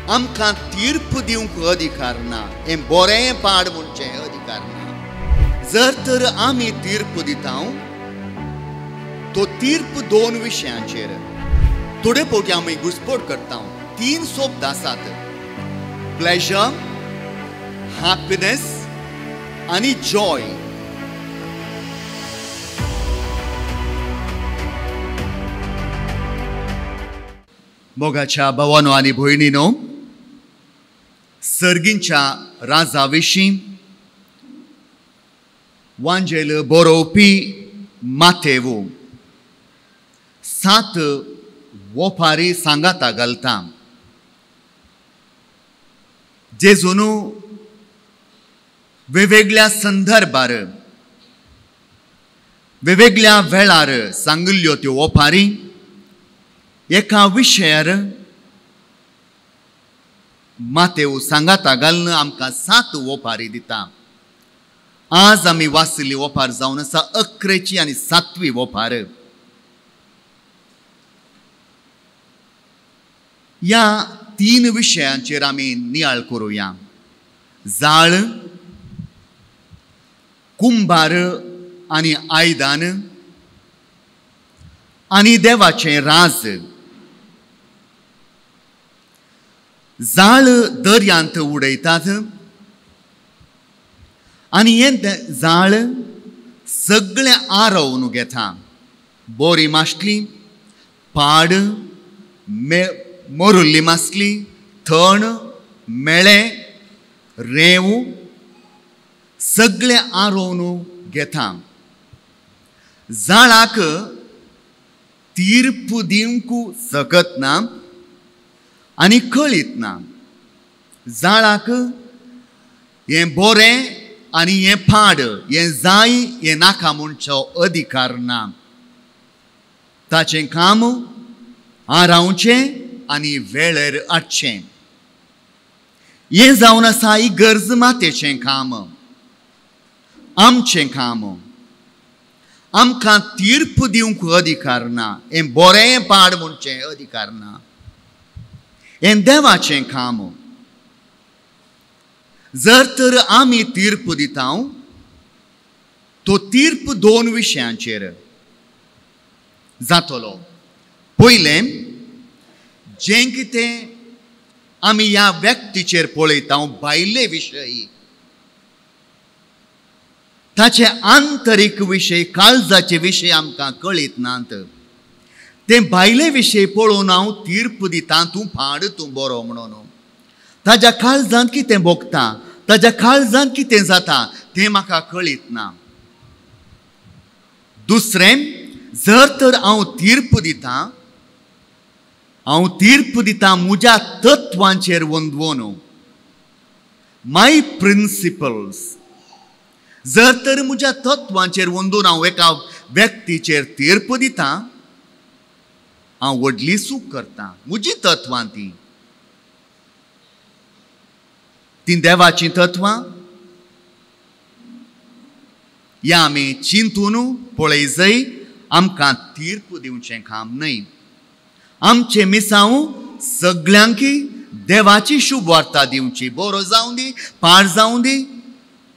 आमकां तीर्प दिवंक अधिकार ना, हें बरें पाड म्हणचें अधिकार ना। जर तर आमी तीर्प दिता तो तीर्प दोन विशयांचेर। थोडे फावटी आमी घुसपट करता। तीन शब्द आसात, प्लेजर, हॅपीनेस आनी जॉय। मोगाच्या भावानो आनी भयणीनो, सर्गींच्या राजा विशीं वांजेल बरोवपी मातेवो 7 वोपारी सांगाता घालता। जेजून वेगवेगळ्या संदर्भार वेगवेगळ्या वेळार सांगिल्ल्यो त्यो वोपारी एका विशयार मातेव सांगाता घालून आमकां 7 वोपारी दिता। आज आमी वाचिल्ली वोपार जावन आसा 11ची आनी 7वी वोपार। ह्या 3 विशयांचेर आमी नियाळ करुया। जाळ, कुंभार आनी आयदन आनी देवाचें राज। जाळ दर्यांत उडयतात आनी हें जाळ सगळें आरोवन घेता। बोरी मासली, पाड, मोरुल्ली मासली, थण, मेळे, रेंव सगळें आरोवन घेता। जाळाक तीर्प दिवंक शकत ना आनी कळीत ना। जाळाक हें बोरें आनी हें पाड, हें जाय, हें नाका म्हणचो अधिकार ना। ताचें काम आरावचें आनी वेळेर हाडचें। हें जावन आसा ही गरज मातेचें काम, आमचें काम। आमकां तीर्प दिवंक अधिकार ना, हें बोरें पाड म्हणचें अधिकार ना, हें देवाचें काम। जर तर आमी तीर्प दिता तो तीर्प 2 विशयांचेर जातलो। पयलें, जें कितें आमी ह्या व्यक्तीचेर पळयता भायले विशय, ताचे आंतरीक विशय, काळजाचे विशय आमकां कळीत नात। ते भायले विशय पळोवन हांव तीर्प दिता, तूं पाड, तूं बरो म्हणून। ताज्या काळजांत कितें भोगता, ताज्या काळजांत कितें जाता तें म्हाका कळीत ना। दुसरें, जर तर हांव तीर्प दिता, हांव तीर्प दिता म्हज्या तत्वांचेर वंदवोन, माय प्रिंसिपल्स। जर तर म्हज्या तत्वांचेर वंदून हांव एका व्यक्तीचेर तीर्प दिता, हांव व्हडली चूक करता। म्हजी तत्वां ती तीं देवाचीं तत्वां। ह्या आमी चिंतून पळय जाय, आमकां तीर्प दिवचें काम न्हय। आमचें मिसांव सगळ्यांकी देवाची शुभ वार्ता दिवची। बरो जावं दी, पाड जावं दी,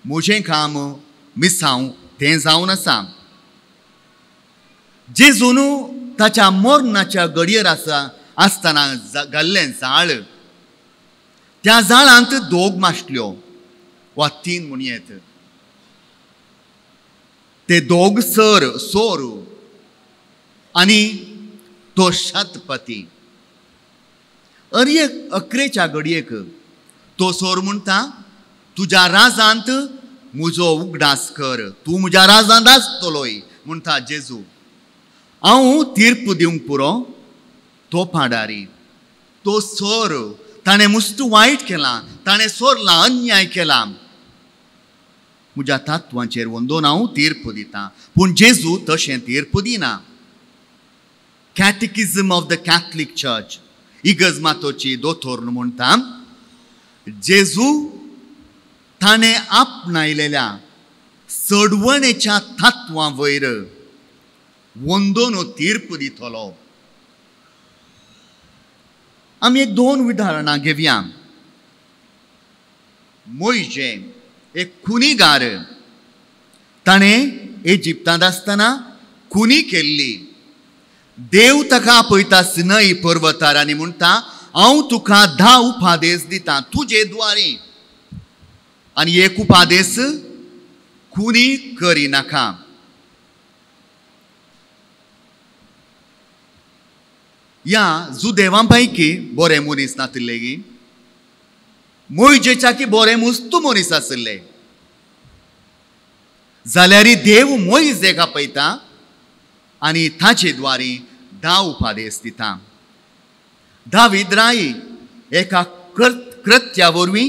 म्हजें काम मिसांव तें जावन आसा। जेजून ताच्या मरणाच्या घडयेर आसा आसतना घाल्लें जाळ, त्या जाळांत 2 मासल्यो वा 3 म्हणयेत। ते 2 सर सोर आनी तो शतपती। अरे 11च्या घडयेक तो सोर म्हणटा, तुज्या राजांत म्हजो उगडास कर, तूं म्हज्या राजांत आसतलोय म्हणटा जेजू। हांव तीर्प दिवंक पुरो, तो पाडारी, तो सोर, ताणें मुस्त वायट केलां, ताणें सोरलां, अन्याय केला। म्हज्या तत्वांचेर वंदोवन हांव तीर्प दिता। पूण जेजू तशें तीर्प दिना। Catechism of the Catholic Church, इगर्ज मातोची दोतोर म्हणटा, जेजू ताणें आपणायलेल्या चडवणेच्या तत्वां वयर वंदोन तीर्प दितलो। आमी एक दोन उदाहरणां घेवया. मोयजे एक खुनीगार, ताणें इजिप्तांत आसतना खुनी केल्ली. देव ताका आपयता सिनय पर्वतार आनी म्हणटा हांव तुका 10 उपादेश दिता तुजे द्वारे, आनी एक उपादेश खुनी करिनाका. ह्या जुदेवां पैकी बरे मनीस नातिल्ले गी, मोयजेच्या की बरे मुस्तू मनीस आशिल्ले, जाल्यार देव मोयजेक आपयता आनी ताचे द्वारे 10 उपादेश दिता. दावीद राय एका कृत्या वरवीं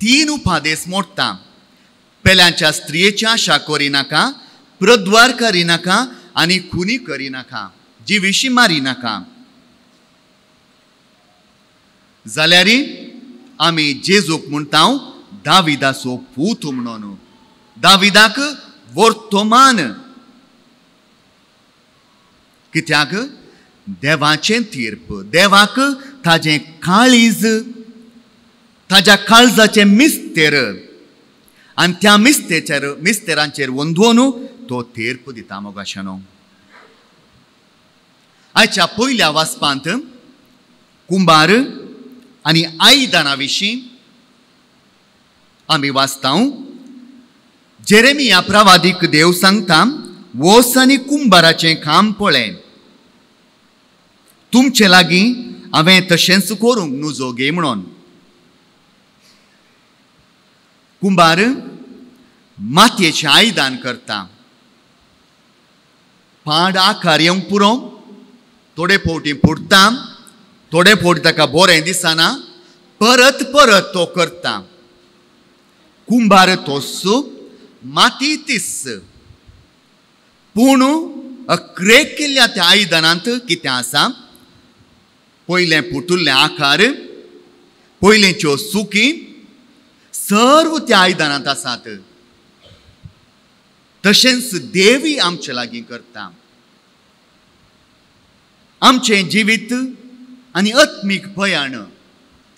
3 उपादेश मोडटा. पेल्यांच्या स्त्रियेची आशा करिनाका, प्रद्वार करिनाका आनी खुनी करिनाका, जिविशी मारिनाका. जाल्यार आमी जेजूक म्हणटा दाविदाचो पूत म्हणून. दाविदाक वर्तमान कित्याक देवाचें तीर्प, देवाक ताजें काळीज, ताज्या काळजाचें मिस्तेर, आनी त्या मिस्तेरांचेर वंदोवन तो तीर्प दिता. मोगाशानो, आयच्या पयल्या वाचपांत कुंभार आनी आयदनां विशीं आमी वाचता. जेरेमिया प्रवादीक देव सांगता वोस आनी कुंभाराचें काम पळय, तुमचे लागीं हांवें तशेंच करूंक नुजो गे म्हणून. कुंभार मातयेचें आयदन करता, पाड आकार येवंक पुरो, थोडे फावटी फुटता, थोडे फावटी ताका बरें दिसना, परत परत तो करता. कुंभार तोस, माती तीस, पूण अक्रेक केल्ल्या त्या आयदनांत कितें आसा? पयलें फुटुल्लें आकार, पयलेंच्यो सुकी सर्व त्या आयदनांत आसात. तशेंच देवी आमचे लागीं करता. आमचें जिवीत आनी आत्मीक प्रयाण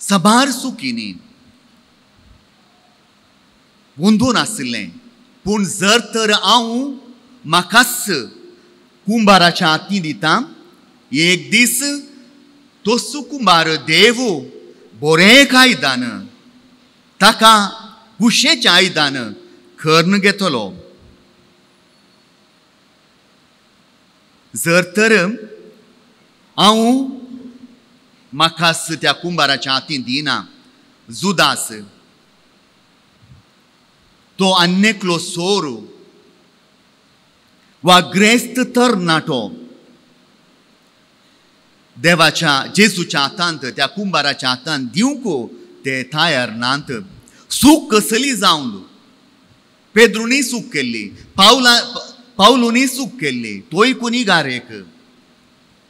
साबार सुकींनी गोंदून आशिल्लें, पूण जर तर हांव म्हाकाच कुंभाराच्या हातीं दिता, एक दीस तोसू कुंभार देव बरें आयदन ताका कुशेचें आयदन करून घेतलो. जर तर हांव म्हाकाच त्या कुंभाराच्या हातीं दिना, जुदास तो आन्नेकलो सोर वा ग्रेस्त तरणाटो देवाच्या जेजूच्या हातांत त्या कुंभाराच्या हातांत दिवंक ते तयार नात. सूक कसली जावन पेद्रुनी सूक केल्ली, पावलुनी सूक केल्ली, तोय कुनिगार एक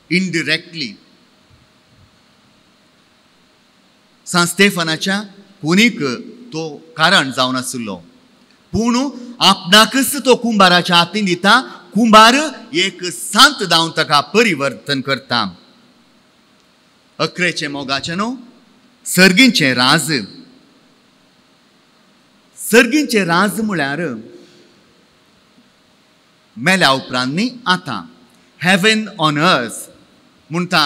इनडिरेक्टली सांत स्टेफनाच्या कुनीक तो कारण जावन आशिल्लो. पूण आपणाकच तो कुंभाराच्या हातीन दिता, कुंभार एक सांत जावन ताका परिवर्तन करता. अकरेचें मोगाचें न्हू सर्गींचें राज. सर्गींचें राज म्हळ्यार मेल्या उपरांत न्ही आतां हेवन ऑन अर्थ म्हणटा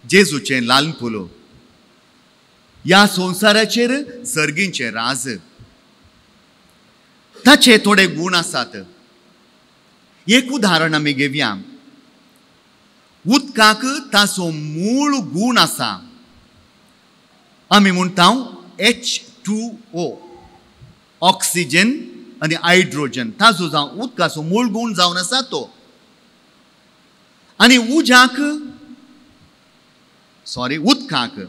जेजूचें लाल फुलो. ह्या संवसाराचेर सर्गींचें राज, ताचे थोडे गूण आसात. एक उदाहरण आमी घेवया. उदकाक ताचो मूळ गूण आसा, आमी म्हणटा H2O, oxygen आनी हायड्रोजन, ताचो जावन उदकाचो मूळ गूण जावन आसा तो. आनी उज्याक सॉरी उदकाक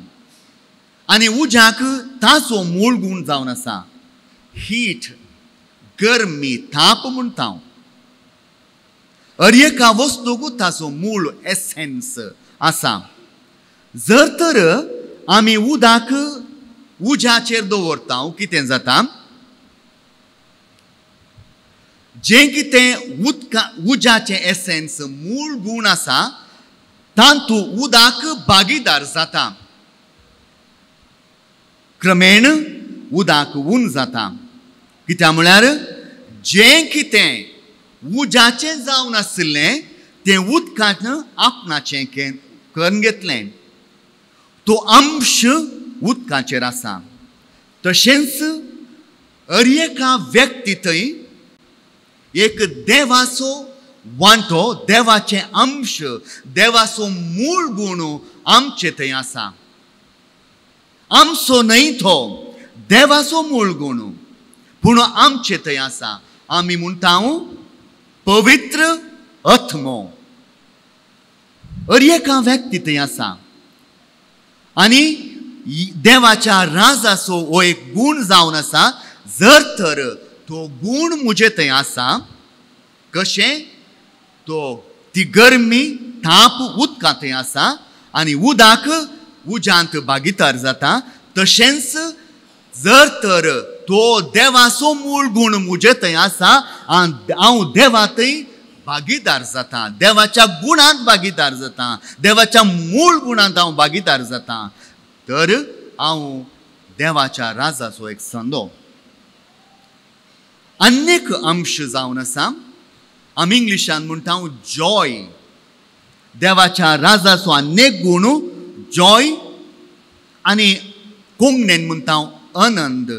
आनी उज्याक ताचो मूळ गूण जावन आसा हीट, गरमी, ताप म्हणटा. अर एका वस्तूक ताचो मूळ एसेन्स आसा. जर तर आमी उदक उज्याचेर दवरता कितें जाता? जें कितें उदका उज्याचें एसेन्स मूळ गूण आसा तातूंत उदक भागीदार जाता. क्रमेण उदक ऊन जाता. कित्याक म्हळ्यार जें कितें उज्याचें जावन आशिल्लें तें उदकान आपणाचें करून घेतलें. तो अंश उदकाचेर आसा. तशेंच हर एका व्यक्ती थंय एक देवाचो वांटो, देवाचें अंश, देवाचो मूळ गूण आमचे थंय आसा. आमचो न्हय तो देवाचो मूळ गूण, पूण आमचे थंय आसा. आमी म्हणटा पवित्र आत्मो हर एका व्यक्ती थंय आसा. आनी देवाच्या राजाचो हो एक गूण जावन आसा. जर तर तो गूण म्हजे थंय आसा, कशें तो ती गरमी ताप उदका थंय आसा आनी उदक उज्यांत भागीदार जाता, तशेंच जर तर तो देवाचो मूळ गूण म्हजे थंय आसा आनी हांव देवा थंय भागीदार जाता, देवाच्या गुणांत भागीदार जाता, देवाच्या मूळ गुणांत हांव भागीदार जाता, तर हांव देवाच्या राजाचो एक संदो. आनीक अंश जावन आसा, आमी इंग्लिशान म्हणटा जॉय. देवाच्या राजाचो आनेक गूण जॉय, आनी कोंकणीन म्हणटा आनंद.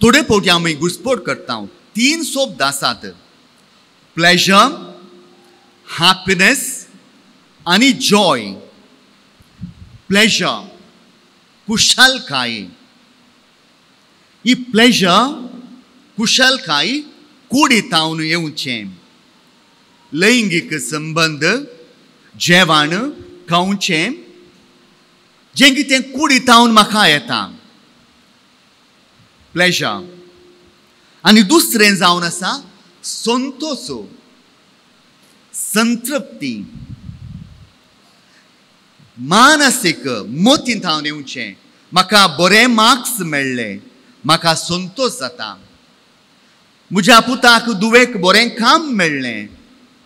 थोडे फावटी आमी घुस्पट करता. तीन शब्द आसात, प्लेजर, हॅपीनेस आनी जॉय. प्लेजर कुशलकाय, ही प्लेजर कुशलकाय कुडीतावन येवचें. लैंगीक संबंद, जेवण खावचें, जें कितें कुडीतावन म्हाका येता, प्लेजर. आनी दुसरें जावन आसा संतोष, संतृप्ती, मानसीक मतींत येवचें. म्हाका बरे मार्क्स मेळ्ळे, म्हाका संतोष जाता. म्हज्या पुताक दुवेक बरें काम मेळ्ळें,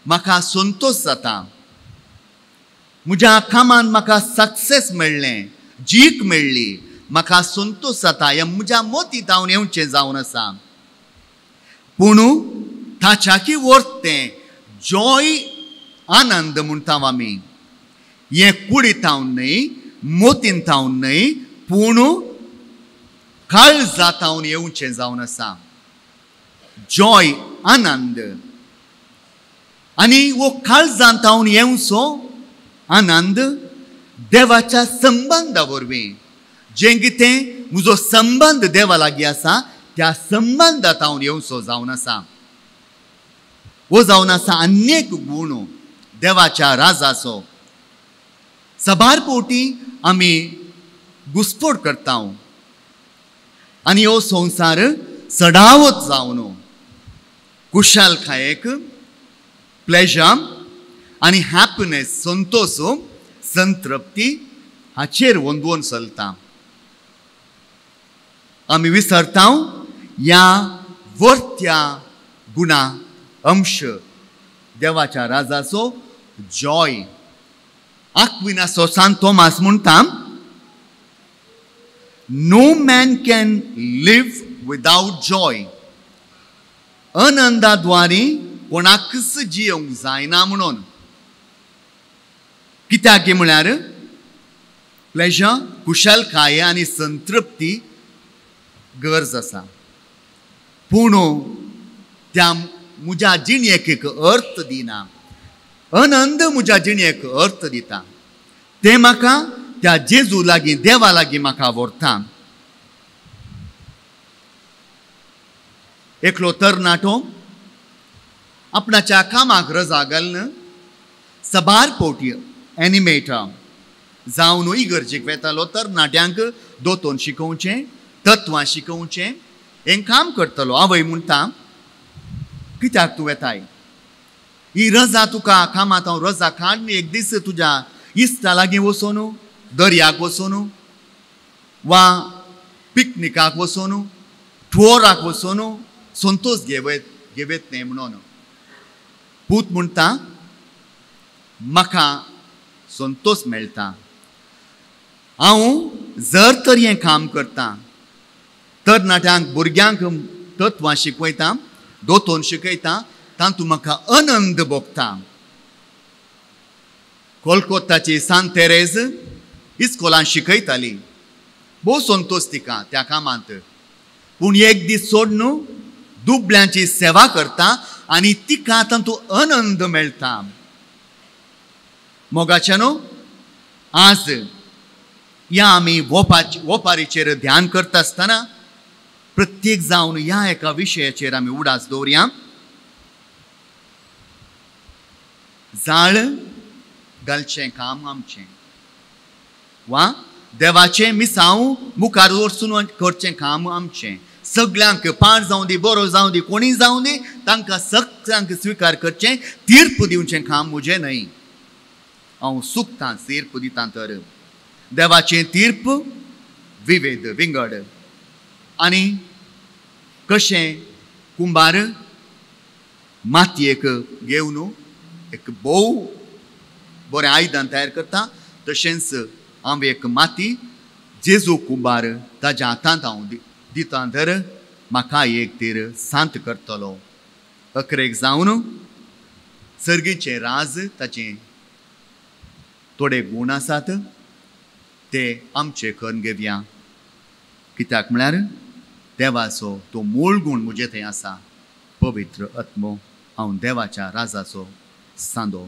म्हाका संतोष जाता. म्हज्या कामान म्हाका सक्सेस मेळ्ळें, जीक मेळ्ळी, म्हाका संतोष जाता. हें म्हज्या मतींत हांव येवचें जावन आसा. पूण ताच्याकी वर्तें जॉय, आनंद म्हणटा आमी, हें कुडीत हांव न्हय, मतींत हांव न्हय, पूण काळजांत हांव येवचें जावन आसा. जॉय, आनंद. आनी हो काळजांत हांव येवचो आनंद देवाच्या संबंदा वरवीं, जें कितें म्हजो संबंद देवा लागीं आसा त्या संबंदांत हांव येवचो जावन आसा. हो जावन आसा अनेक गूण देवाच्या राजाचो. सबार फावटी आमी घुस्पट करता आनी हो संवसार सडावत जावन कुशालकायेक, प्लेजर आनी हॅपीनेस, संतोष, संतृप्ती हाचेर वंदवून चलता. आमी विसरता ह्या वर्त्या गुणा अंश देवाच्या राजाचो जॉय. आक्विनासो सांत तोमास म्हणटा, no man can live without joy. आनंदाद्वारे कोणाकच जियोंक जायना म्हणून. कित्याक म्हळ्यार प्लेजर, कुशलकाय आनी संतृप्ती गरज आसा, पूण त्या म्हज्या जिणेक एक अर्थ दिना. आनंद म्हज्या जिणेक अर्थ दिता, तें म्हाका त्या जेजू लागीं, देवा लागीं म्हाका व्हरता. एकलो तरणाटो आपणाच्या कामाक रजा घालून सबार फावटी एनिमेटर जावन इगर्जेक वेतालो. तरणाट्यांक दोतोन शिकोवचें, तत्वां शिकोवचें हें काम करतलो. आवय म्हणटा, कित्याक तूं वेताय? ही रजा तुका कामांत हांव रजा काड, एक दीस तुज्या इश्टा लागीं वचून, दर्याक वचून वा पिकनिकाक वचून, टुअराक वचून संतोष घेवयत न्हय म्हणून. पूत म्हणटा, म्हाका संतोष मेळटा हांव जर तर हें काम करता, तरणाट्यांक भुरग्यांक तत्वां शिकयता, दोतोन शिकयता, तातूंत म्हाका आनंद भोगता. कोलकोताची सांत तेरेज इस्कोलान शिकयताली, भोव संतोश तिका त्या कामांत. पूण एक दीस सोडून दुबळ्यांची सेवा करता आनी तिका तातूंत आनंद मेळटा. मोगाच्यानो, आज ह्या आमी वोपारीचेर ध्यान करता आसतना प्रत्येक जावन ह्या एका विशयाचेर आमी उडास दवरया. जाळ घालचें काम आमचें वा देवाचें मिसांव मुखार वचून करचें काम आमचें. सगल्यांक पाड जावं दी, बरो जावं दी, कोणी जावं दी, तांकां सगल्यांक स्विकार करचें, तीर्प दिवचें काम म्हजें न्हय. हांव चुकतां तीर्प दिता तर देवाचें तीर्प विवेद विंगड. आनी कशें कुंभार मातयेक घेवन एक भोव बरें आयदन तयार करता, तशेंच हांव एक माती जेजू कुंभार ताज्या हातांत हांव दिता तर म्हाका एक तीर सांत करतलो. अकरेक जावन सर्गीचें राज ताचें थोडे गूण आसात ते आमचे करून घेवया. कित्याक म्हळ्यार देवाचो तो मूळ गूण म्हजे थंय आसा, पवित्र आत्मो. हांव देवाच्या राजाचो सांदो.